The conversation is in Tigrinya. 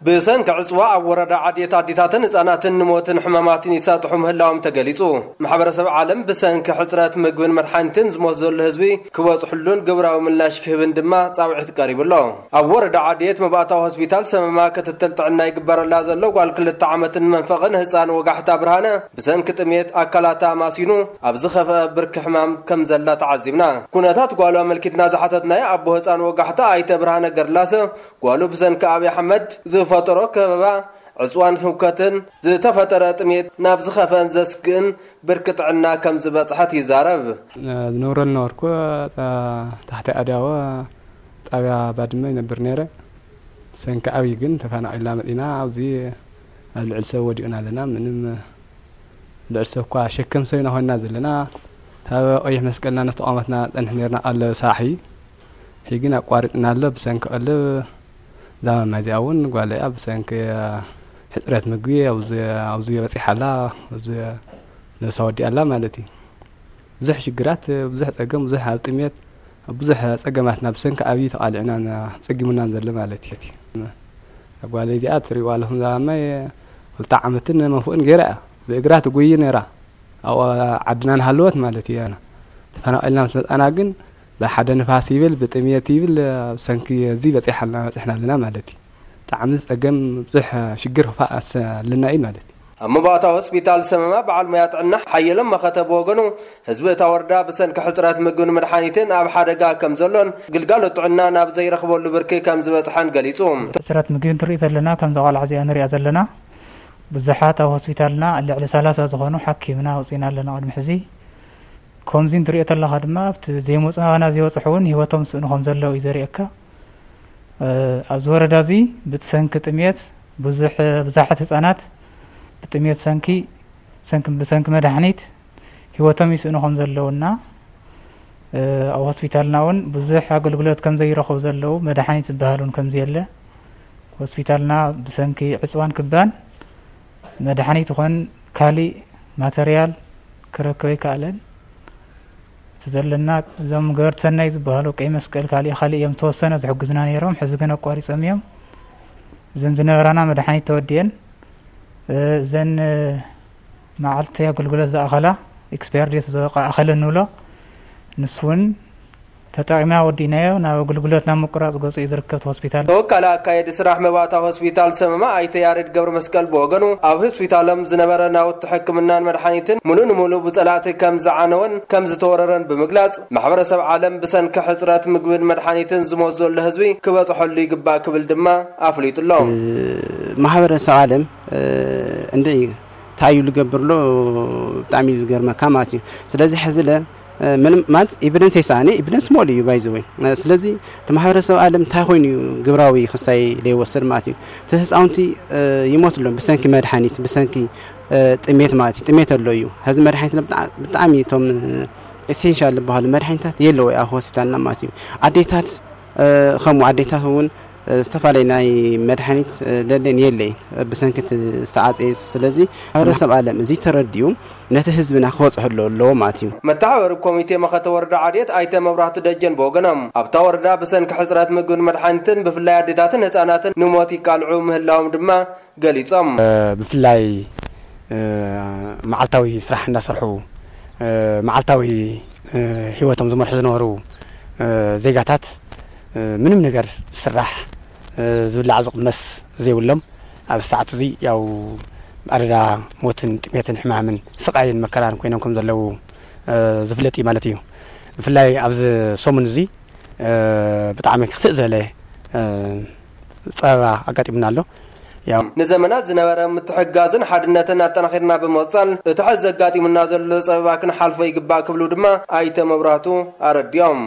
ብሰንኪ ዕፅዋ ኣብ ወረዳ ዓድየት ኣዴታትን ህፃናትን ንሞትን ሕማማትን ይሳጥሑ ምህላዎም ተገሊፁ። ማሕበረሰብ ዓለም ብሰንኪ ሕፅረት ምግብን መድሓኒትን ዝሞት ዘሎ ህዝቢ ክበፅሕሉን ግብራዊ ምላሽ ክህብን ድማ ፃውዒት ቀሪቡ ኣሎ። ኣብ ወረዳ ዓድየት መባእታዊ ሆስፒታል ሰመማ ክትትል ጥዕና ይግበረላ ዘሎ ጓል ክልተ ዓመትን መንፈቕን ህፃን ወጋሕታ ብርሃነ ብሰንኪ ጥሜት ኣካላታ ማሲኑ ኣብ ዝኸፍአ ብርኪ ሕማም ከም ዘላ ተዓዚብና። ኩነታት ጓሉ ኣመልኪትና ዝሓተትናዮ ኣቦ ህፃን ወጋሕታ ኣይተ ብርሃነ ገርላሰ ጓሉ ብሰንኪ ኣብይ ኣሕመድ ዝፈጠሮ ከበባ ዕፅዋን ህውከትን ዝተፈጠረ ጥሜት ናብ ዝኸፍአን ዘስግእን ብርኪ ጥዕና ከም ዝበፅሐት ይዛረብ። ዝነብረሉ ነበርኩ ታሕቲ ኣድያወ ጣብያ ባድመ ይነብር ነይረ። ብሰንኪ ኣብይ ግን ተፈናቒልና መፂና ኣብዚ ኣብ ልዕሊ ሰብ ወዲቕና ኣለና። ምንም ልዕሊ ሰብ እኳ ሸከም ሰብ ኢና ኮይንና ዘለና። ካብ ቀይሕ መስቀልና ነተቋመትና ፀንሕ ነርና ቀለብ ሳሒ ሕጂ ግን ኣቋሪፅና ኣሎ። ብሰንኪ ቀለብ እዛ ማማ እዚኣ እውን ጓለይ እያ ብሰንኪ ሕፅረት ምግቢ ኣብዚ ኣብዚ በፂሓ ኣላ። ኣብዚ ነብሳ ወዲኣ ኣላ ማለት እዩ። ብዙሕ ሽግራት፣ ብዙሕ ፀገም፣ ብዙሕ ኣብ ጥሜት፣ ኣብ ብዙሕ ፀገማትና ብሰንኪ ኣብይ ተቓሊዕናን ፀጊሙናን ዘሎ ማለት እዩ። ጓለይ እዚኣ ትሪእዋ ኣለኹም እዛ ማማይ ክልተ ዓመትን መንፍቕን ገይራ እያ ብእግራ ትጉይ ነይራ። ኣብኡ ዓድና ንሃለወት ማለት እዩ። ተፈናቒልና ምስ መፃና ግን ብሓደ ንፋስ ይብል ብጥምየት ይብል ብሰንኪ እዚ በፂሓልና በፂሕና ኣለና ማለት እዩ። ብጣዕሚ ፀገም ብዙሕ ሽግር ክፋእ ኣለና እዩ ማለት እዩ። ኣብ መባእታ ሆስፒታል ሰመማ በዓል ሞያ ጥዕና ሓየሎም መኸተ ብወገኑ ህዝቢ እታ ወረዳ ብሰንኪ ሕፅረት ምግብን መድሓኒትን ኣብ ሓደጋ ከም ዘሎን ግልጋሎት ጥዕና ናብ ዘይረኽበሉ ብርኪ ከም ዝበፅሐን ገሊፁ። ሕፅረት ምግቢ እንትርኢ ዘለና ከምዛ ቆልዓ እዚኣ ንሪኣ ዘለና ብዙሓት ኣብ ሆስፒታልና ልዕሊ ሰላሳ ዝኾኑ ሓኪምና ኣውፂና ኣለና ቅድሚ ሕዚ። ከምዚ እንትሪኦ ተለኻ ድማ ኣብቲ ዘይመፁ ናባና ዘይበፅሑ እውን ህይወቶም ስእኑ ከም ዘለዉ እዩ ዘርእየካ። ኣብዚ ወረዳ እዚ ብሰንኪ ጥምየት ብዙሕ ብዙሓት ህፃናት ብጥምየት ሰንኪ ሰንኪ ብሰንኪ መድሓኒት ህይወቶም ይስእኑ ከም ዘለውና ኣብ ሆስፒታልና እውን ብዙሕ ኣገልግሎት ከም ዘይረኸቡ ዘለዉ መድሓኒት ዝበሃል እውን ከም ዘየለ ሆስፒታልና ብሰንኪ ዕፅዋን ክባን መድሓኒት ይኹን ካሊእ ማተርያል ክረክብ ኣይከኣለን። እቲ ዘለና እዞም ገበርቲ ሰናይ ዝበሃሉ ቀይ መስቀል ካሊእ ካሊእ እዮም ተወሰነ ዝሕግዙና ነይሮም። ሕዚ ግን ኣቋሪፆም እዮም። እዘን ዝነበራና መድሓኒት ተወዲአን እዘን መዓልቲ ኣገልግሎት ዝኣኸላ ኤክስፓየር ዴት ዝወቃ ኣኸለ እንብሎ ንሱ እውን ተጠቂምና ወዲእናዮ ናብ ኣገልግሎት ናብ ምቁራፅ ገፁ እዩ ዝርከብ እቲ ሆስፒታል። ተወካሊ ኣካየዲ ስራሕ መባእታ ሆስፒታል ሰመማ ኣይተ ያሬድ ገብረ መስቀል ብወገኑ ኣብ ሆስፒታሎም ዝነበረ ናውቲ ሕክምናን መድሓኒትን ሙሉእ ንሙሉእ ብፀላእቲ ከም ዝዓነወን ከም ዝተወረረን ብምግላፅ ማሕበረሰብ ዓለም ብሰንኪ ሕፅረት ምግብን መድሓኒትን ዝሞት ዘሎ ህዝቢ ክበፅሐሉ ይግባእ ክብል ድማ ኣፍሊጡ ኣሎ። ማሕበረሰብ ዓለም እንደ እንታይ እዩ ዝገብር ኣሎ ብጣዕሚ እዩ ዝገርመካ ማለት እዩ። ስለዚ ሕዚ ለ ምንም ማለት ኤቪደንስ የሰኣነ ኤቪደንስ ሞል እዩ ባይዘወይ። ስለዚ እቲ ማሕበረሰብ ዓለም እንታይ ኮይኑ እዩ ግብራዊ ክስታይ ዘይወስድ ማለት እዩ። እቲ ህፃውንቲ ይሞት ኣሎ ብሰንኪ መድሓኒት ብሰንኪ ጥሜት ማለት እዩ። ጥሜት ኣሎ እዩ። ሕዚ መድሓኒት ብጣዕሚ እቶም ኤሴንሻል ዝበሃሉ መድሓኒታት የለወ ኣብ ሆስፒታልና ማለት እዩ። ኣዴታት ከምኡ ኣዴታት እውን ዝተፈላለዩ ናይ መድሓኒት ለለን የለይ ብሰንኪ እቲ ዝተዓፀየ። ስለዚ ማሕበረሰብ ዓለም እዚ ተረዲኡ ነቲ ህዝብና ክበፅሐሉ ኣለዎ ማለት እዩ። መተሓባበሪ ኮሚቴ መኸተ ወረዳ ዓድየት ኣይተ መብራህቱ ደጀን ብወገኖም ኣብታ ወረዳ ብሰንኪ ሕፅረት ምግብን መድሓኒትን ብፍላይ ኣዴታትን ህፃናትን ንሞት ይቃልዑ ምህላዎም ድማ ገሊፆም። ብፍላይ መዓልታዊ ስራሕ እንዳሰርሑ መዓልታዊ ሂወቶም ዝመርሑ ዝነበሩ ዜጋታት ምንም ነገር ዝስራሕ ዝብላዕ ዝቕመስ ዘይብሎም ኣብዚ ሰዓት እዚ ያው ኣደዳ ሞትን ጥሜትን ሕማምን ስቓይን መከራን ኮይኖም ከም ዘለዉ ዝፍለጥ እዩ ማለት እዩ። ብፍላይ ኣብዚ ሰሙን እዚ ብጣዕሚ ክፍእ ዝበለ ፀበባ ኣጋጢሙና ኣሎ። ያው ንዘመናት ዝነበረ ምትሕግጋዝን ሓድነትን ኣጠናኺርና ብምቕፃል እቲ ሕዚ ዘጋጢሙና ዘሎ ፀበባ ክንሓልፎ ይግባእ ክብሉ ድማ ኣይተ መብራህቱ ኣረዲኦም።